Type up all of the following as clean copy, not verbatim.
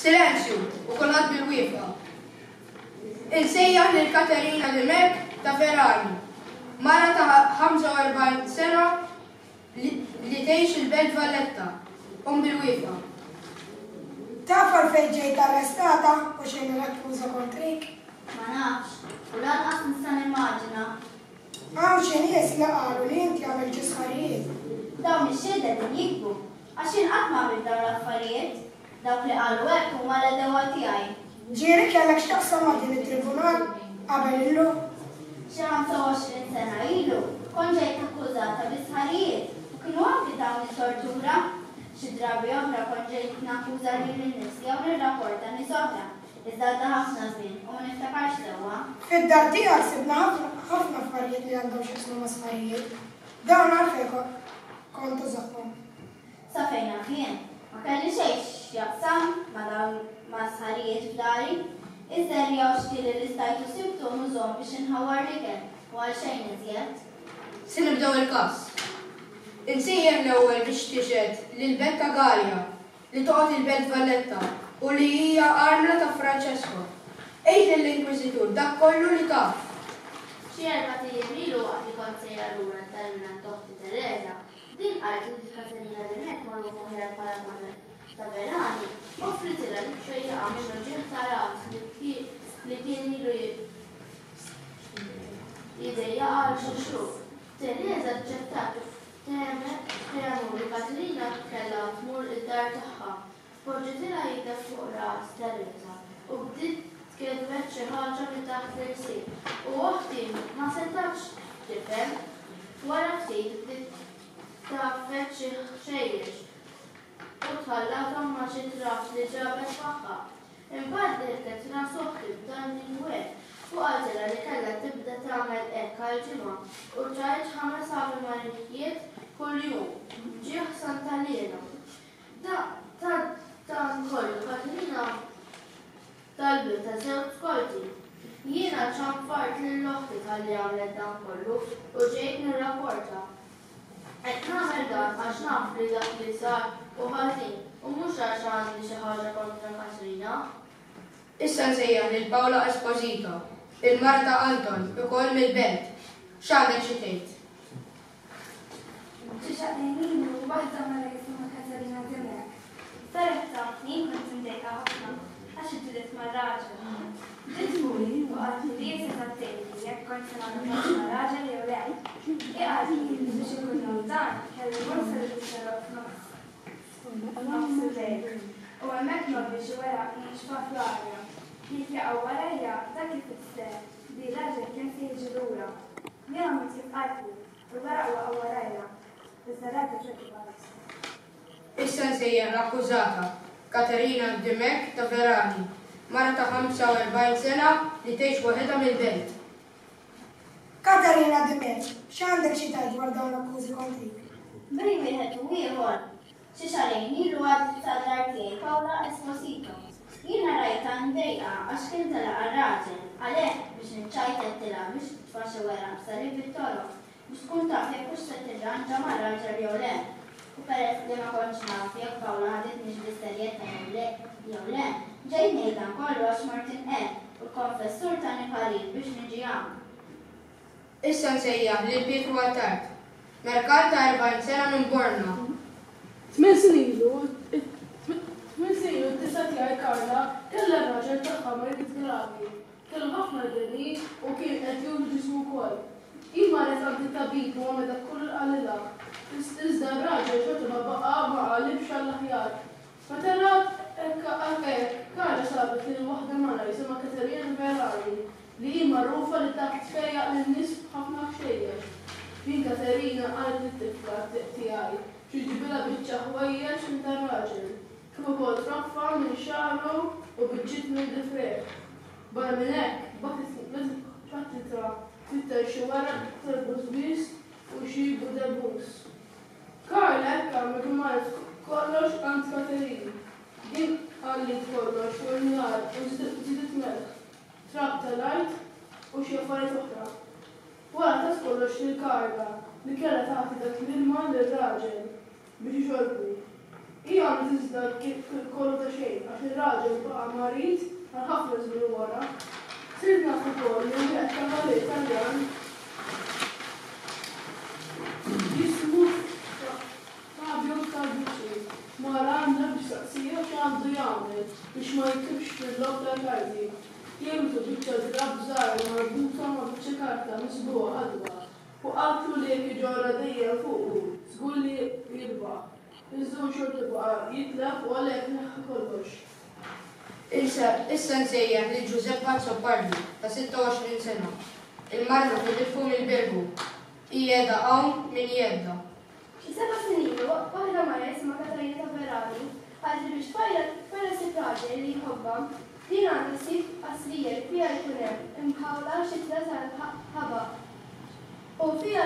Silenzju u kulħadd bil-wieqfa. Insejjaħ lil Katerina Dimech ta' Ferrari, mara ta' 45 sena li tgħix il-Belt Valletta. Qum bil-wieqfa. Taf għalfejn ġejt arrestata u x'inhi l-akkuża kontrik? Ma nafx, u lanqas nista' nimmaġina. Hawn xi nies li qalu li inti għamilt xi sħarijiet. Dawn ix-xhieda qegħdin jigdbu, għax jien qatt ma għamilt dawn l-affarijiet. Dawk li qalu hekk huma l-għedewwa tiegħi. Ġieli kellek x'taqsam ma' din it-tribunal qabel illum? Xi 25 sena ilu, kont ġejt akkużata bi sħarijiet u kienu anki tawni tortura. Xi drabi oħra kont ġejt nakkuża lili nnifsi jew nirrapporta nies oħra, iżda għadda ħafna żmien u ma niftakarx sewwa. Fid-dar tiegħek sibna ħafna affarijiet li għandhom x'jaqsmu ma' sħarijiet. Dawn għalfejn kont tużahom? Sa fejn naf jien, ma kelli xejn x'jaqsam ma' dawn ma' sħarijiet f'dari. Iż-żerriegħa u x-xtieli li stajtu sibtu nużhom biex inħawwar l-ikel u għal xejn iżjed. Se nibdew il-każ. Insejjaħ l-ewwel biex tixhed lil Betta Galea li toqgħod il-Belt Valletta u li hija armla ta' Francesco. Għid lill-Inkwiżitur dak kollu li taf. Xi erbat ijiem ilu waqt li kont sejra lura d-dar mingħand oħti Teresa, Din qaltli li Katerina Dimech, magħrufa aħjar bħala Madre Taverani, offritilha li tfejjaqha minn uġigħ ta' ras li kien ilu jdejjaqha għal xi xhur. Teresa aċċettat u ftehmu li Katerina kellha tmur id-dar tagħha. Poġġitilha idha fuq ras Teresa u bdiet tkellmet xi ħaġa minn taħt l-irsir u oħti ma setgħetx tifhem. Wara ftit bdiet tgħaffeġ xi ħxejjex u tħallathom ma' xi trab li ġabet magħha. Imbagħad dilket ras oħti b'dan l-inwed u qaltilha li kellha tibda tagħmel hekk għal ġimgħa u tgħid ħames Ave Marijiet kuljum b'ġieħ Santa Liena. Ta' dan kollu Katrina talbitha żewġ skorti. Jiena ċanfart lil oħti talli għamlet dan kollu u ġejt nirrapporta. Qed nagħmel dan għax naf li dak li sar hu ħażin u mhux għax għandi xi ħaġa kontra Katrina. Issa nsejjaħ lil Paola Esposito, il-mara ta' Anton, ukoll mill-Belt. X'għandek xi tgħid? Xi xahrejn ilu, waħda mara jisimha Katarina Dimech, saret tafni jien kont imdejqa ħafna għax iġġilidt ma' raġel. Ġiet fuqi u qaltli li hi setgħet tgħidli jekk kontx se nagħmel paċi ma' raġel jew le. Hi qaltli li biex inkun naf dan kelli mmur salib it-toroq f'nofs nofs il-lejl u hemmhekk ngħobbi xi weraq niexfa fl-arja. Jekk jaqgħu warajja dak ifisser li r-raġel kien se jiġi lura. Jien għamilt kif qaltli, u l-weraq waqgħu warajja, iżda r-raġel xorta baqa' l-istess. Issa nsejjaħ l-akkużata, Katerina Dimech ta' Verani, mara ta' 45 sena li tgħix waħedha mill-Belt. Katerina Dimech, x'għandek xi tgħid dwar dawn l-akkużi kontrik? Bejn wieħed u ieħor, Xi xahrejn ilu għaddiet sad-dar tiegħi Paola Esposito. Jiena rajtha mdejqa għax kien telaqha raġel, għalhekk biex niċċajt għedtilha biex titfa' xi weraq b'salib it-toroq biex tkun taf jekk hux se tirranġa mar-raġel jew le. U peress li ma kontx naf jekk Paola ħaditnix bis-serjetà jew le jew le, ġejt ngħid dan kollu għax mort inqerr u l-konfessur tani parir biex niġi hawn. Issa nsejjaħ lil Pietru Attard, merkant ta' 40 sena minn Bormla. Tmien snin ilu, tmien snin ilu d-disa tiegħi Carla kellha r-raġel tagħha marid gravi. Kellu ħafna deni u kien qed juru ġismu wkoll. Hi marret għand it-tabib u għamlet dak kollu li qalilha. Iżda r-raġel xorta ma baqa' ma qalibx għall-aħjar. Meta rat hekk, Carla sabet lil waħda mara jisimha Katerina Verani li hi magħrufa li taf tfejjaq lin-nies b'ħafna ħxejjex. Din Katerina qalet lit-tifla tiegħi biex iġġibilha biċċa ħwejjeġ minn tar-raġel, kif ukoll troffa minn xagħru u biċċiet minn difrejh. Barra minn hekk, bagħtitha tfittex xi weraq tal-bużbież u xi budebus. Carla hekk għamlet u marret kollox għand Katerina. Din għalliet kollox fuq in-nar u żidet melħ. trab tal-art u xi affarijiet oħra. Wara tat kollox lil Carla li kellha tagħti dak l-ilma lir-raġel biex ixorbu. Hi għamlet iżda kollu ta' xejn għax. għax ir-raġel baqa' marid għal ħafna żmien wara. Sirt naf ukoll li wieħed kavalier Taljan jismu Fabio Carducci mar għandha biex saqsieha x'għandu jagħmel biex ma jitlifx fil-logħob tal-karti. Jieħdu biċċa drapp żgħira marbuta ma' biċċa karta miżbugħa ħadra u qaltlu li jekk iġorrha dejjem fuqu, żgur li jirbaħ. Iżda hu xorta baqa' jitlef u għalhekk neħħa kollox. Issa nsejjaħ lil Giuseppe Azzopardi ta' 26 sena, il-mara ta' Filippo mill-Birgu. Hi qiegħda hawn minn jeddha. Xi seba' snin ilu, waħda mara jisimha Katarina Taverani qaltli biex tfajla tfajla ssib raġel li jħobbha, din għandha ssib qasrija li fiha jkun hemm imħawla xitla tal-ħabaq u fiha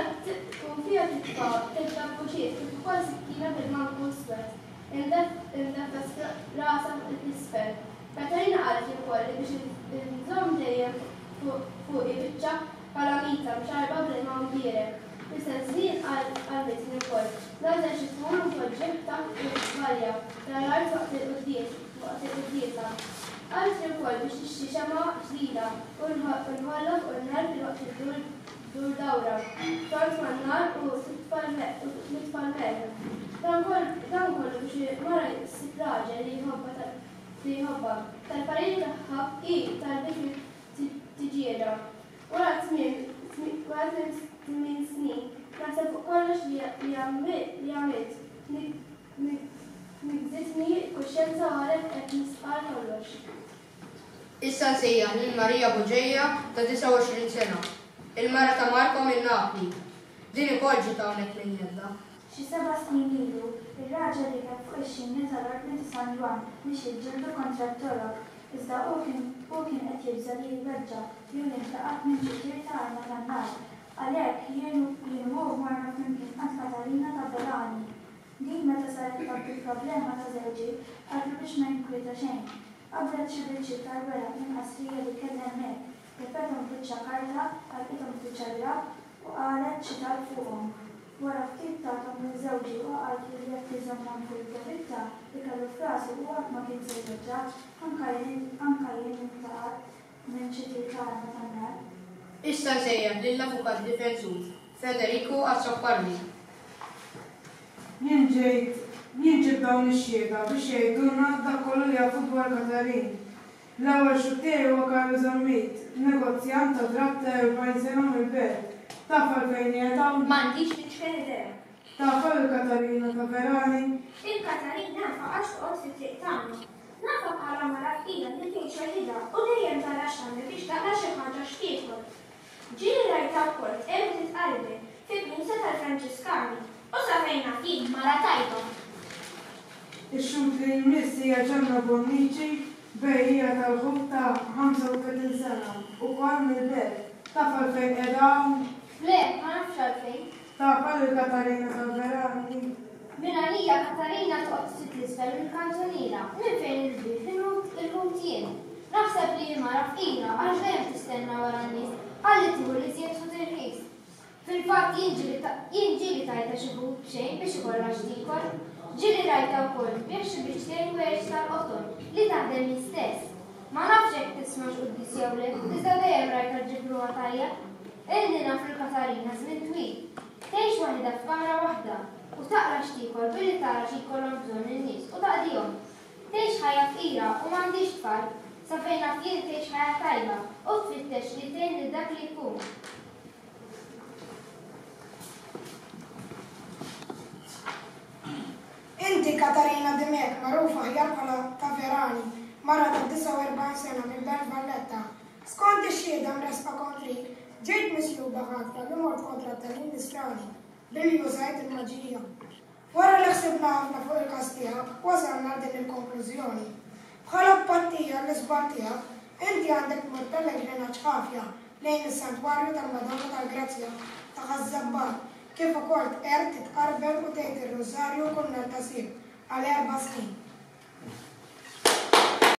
u fiha titfa' tliet bbuċiet kif ukoll sikkina bil-manku iswed imdeffes rasha 'l isfel. Katarina qaltli wkoll li biex inżomm dejjem fuqi biċċa Kalamita mxarrba bl-ilma mbierek. Fl-istess żmien għallmitni wkoll nagħżel xi tmur u npoġġih taħt il-balja tal-art waqt il-quddies waqt il-quddiesa. Qaltli wkoll biex nixtri xemgħa ġdida u nħollha fuq in-nar filwaqt li ddur ddur dawra tort man-nar u titfa' nitfa' l-melħ. Dan dan kollu biex mara ssib raġel li jħobbha li jħobbha. Tal-pariri tagħha hi talbitni tiġieda. Wara tmien snin, naħseb fuq kollox li għamilt, niggżitni l-kuxjenza u għalhekk qed nistqarr kollox. Issa nsejjaħ lil Maria Bugeja ta' 29 sena, il-mara ta' Marco minn Napli. Din ukoll ġiet hawnhekk minn jeddha. Xi seba' snin ilu, ir-raġel rikeb fuq ix-xini tal-Ordni ta' San Ġwann biex jiġġieldu kontra t-Torok, iżda hu kien hu kien qed jibża' li jweġġa' jew jintlaqat minn xi tir ta' arma tan-nar. Għalhekk, jien jien u hu morna flimkien għand Katarina ta' Verani. Din meta saret taf bil-problema ta' żewġi, qaltlu biex ma jinkwieta xejn. Qabdet xi biċċiet tal-weraq minn qasrija li kellha hemmhekk, leffethom f'biċċa karta, għalqithom f'biċċa drapp u qalet xi talb fuqhom. Wara ftit tathom lil żewġi u qaltlu li jekk iżommhom fil-provitta li kellu f'rasu hu qatt ma kien se jweġġa', anka jien anka jien intlaqatt minn xi tir ta' arma tan-nar. Issa nsejjaħ lill-Avukat Difensur Federico Azzopardi. Jien ġejt, jien ġibt dawn ix-xhieda biex jgħidulna dak kollu li jafu dwar Katarin. L-ewwel xhud tiegħi huwa Carlo Zammit, negozjant ta' drapp ta' 40 sena mill-Belt. Taf għalfejn qiegħed hawn? M'għandix l-iċken idea. Tafha lil Katarina Taverani? Lil Katarina nafha għax toqgħod fit-triq tagħna. Nafha bħala mara fqira li tgħix waħidha u dejjem tara x'tagħmel biex taqla' xi ħaġa x'tiekol. Ġieli rajtha wkoll tqerr u titqarben fi knisja tal-Franġiskani u sa fejn naf jien mara tajba. Ix-xhud li jmiss hija Ġanna Bonnici, bejjiegħa tal-ħut ta' 35 sena, ukoll mill-Belt. Taf għalfejn qiegħda hawn? Le, ma nafx għalfejn. Tafha lil Katarina Salverani? Minn għalija Katarina toqgħod ftit 'l isfel mill-kantuniera, minn fejn il-bieb il-ħut jien. Naħseb li hi mara fqira għax dejjem tistenna wara n-nies ħalli tieħu l-iżjed ħut irħis. Fil-fatt jien ġieli jien ġieli tajtha xi ħut b'xejn biex ikollha x'tiekol. Ġieli rajtha wkoll tbigħ xi biċċtejn ħwejjeġ tal-qoton li taħdem hi stess. Ma nafx jekk tismax quddies jew le, iżda dejjem rajtha ġġib ruħha tajjeb. Ilni naf lil Katarina żmien twil. Tgħix waħidha f'kamra waħda u taqla' x'tiekol billi tara xi jkollhom bżonn in-nies u taqdihom. Tgħix ħajja fqira u m'għandhiex tfal. Sa fejn naf jien tgħix ħajja tajba u tfittex li tgħin lil dak li jkun. Inti Katarina Dimech, magħrufa aħjar bħala Taverani, mara ta' 49 sena mill-Belt Valletta. Skont ix-xhieda mressqa kontrik, ġejt misjuba ħatja li mort kontra t-tagħlim Nisrani billi użajt il-maġija. Wara li ħsibna ħafna fuq il-każ tiegħek, wasalna għal din il-konklużjoni. Bħala tpattija għall-iżball tiegħek, inti għandek tmur pellegrinaġġ ħafja lejn is-Santwarju tal-Madonna tal-Grazzja ta' Ħaż-Żabbar, kif ukoll tqerr, titqarben u tgħid ir-Rużarju kull nhar ta' Sibt għal erba' snin.